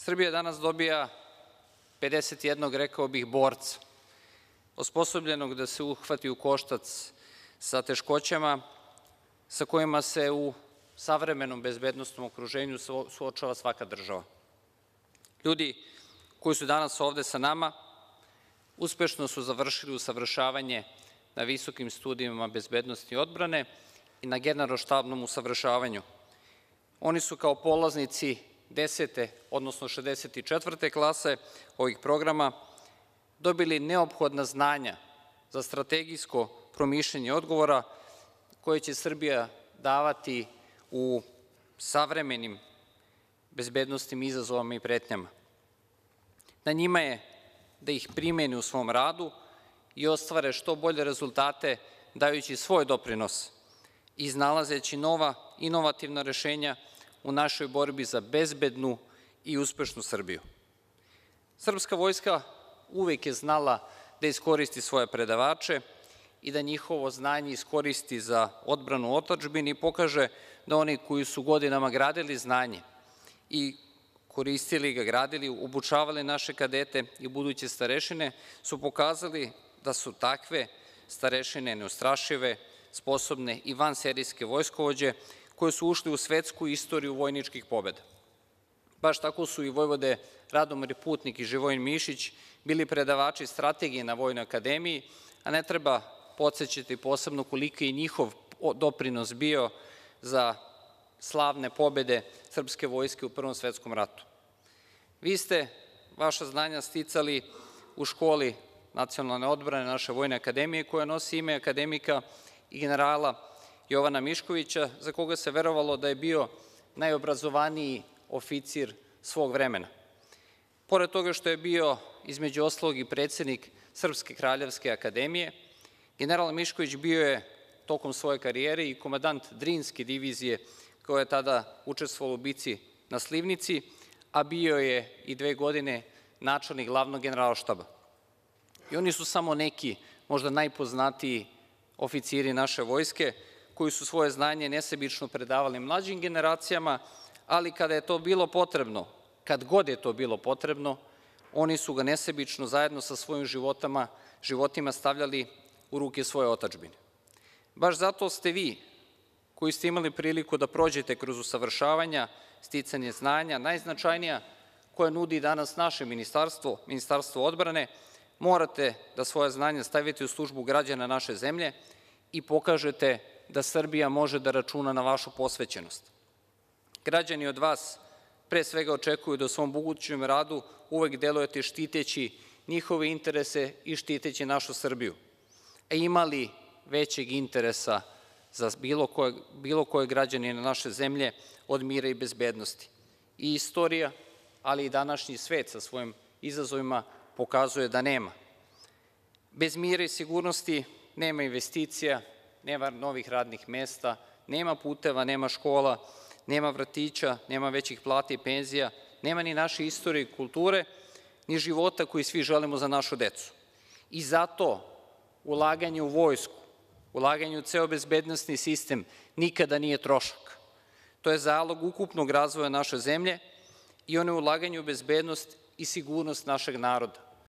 Srbija danas dobija 51, rekao bih, borca, osposobljenog da se uhvati u koštac sa teškoćama sa kojima se u savremenom bezbednosnom okruženju suočava svaka država. Ljudi koji su danas ovde sa nama uspešno su završili usavršavanje na visokim studijama bezbednosti i odbrane i na generalštabnom usavršavanju. Oni su kao polaznici 10. odnosno 64. klase ovih programa dobili neophodna znanja za strategijsko promišljanje odgovora koje će Srbija davati u savremenim bezbednosnim izazovima i pretnjama. Na njima je da ih primene u svom radu i ostvare što bolje rezultate dajući svoj doprinos, iznalazeći nova inovativna rešenja u našoj borbi za bezbednu i uspešnu Srbiju. Srpska vojska uvek je znala da iskoristi svoje predavače i da njihovo znanje iskoristi za odbranu otadžbine i pokaže da oni koji su godinama gradili znanje i koristili ga, gradili, obučavali naše kadete i buduće starešine, su pokazali da su takve starešine neustrašive, sposobne i vanserijske vojskovođe koje su ušli u svetsku istoriju vojničkih pobeda. Baš tako su i vojvode Radomir Putnik i Živojin Mišić bili predavači strategije na Vojnoj akademiji, a ne treba podsećati posebno koliki je njihov doprinos bio za slavne pobede srpske vojske u Prvom svetskom ratu. Vi ste vaša znanja sticali u školi nacionalne odbrane naše Vojne akademije koja nosi ime akademika i generala Jovana Miškovića, za koga se verovalo da je bio najobrazovaniji oficir svog vremena. Pored toga što je bio, između ostalog, i predsednik Srpske kraljevske akademije, general Mišković bio je tokom svoje karijere i komandant Drinske divizije koja je tada učestvovala u bici na Slivnici, a bio je i 2 godine načelnik glavnog generalštaba. I oni su samo neki, možda najpoznatiji oficiri naše vojske, koji su svoje znanje nesebično predavali mlađim generacijama, ali kada je to bilo potrebno, kad god je to bilo potrebno, oni su ga nesebično zajedno sa svojim životima stavljali u ruke svoje otadžbine. Baš zato ste vi, koji ste imali priliku da prođete kroz usavršavanja, sticanje znanja, najznačajnija koje nudi danas naše ministarstvo, Ministarstvo odbrane, morate da svoje znanje stavite u službu građana naše zemlje i pokažete da Srbija može da računa na vašu posvećenost. Građani od vas pre svega očekuju da u svom budućem radu uvek delujete štiteći njihove interese i štiteći našu Srbiju. A ima li većeg interesa za bilo koje građanina naše zemlje od mira i bezbednosti? I istorija, ali i današnji svet sa svojim izazovima pokazuje da nema. Bez mira i sigurnosti nema investicija, nema novih radnih mesta, nema puteva, nema škola, nema vrtića, nema većih plata i penzija, nema ni naše istorije i kulture, ni života koji svi želimo za našu decu. I zato ulaganje u vojsku, ulaganje u ceo bezbednosni sistem nikada nije trošak. To je zalog ukupnog razvoja naše zemlje i ono je ulaganje u bezbednost i sigurnost našeg naroda.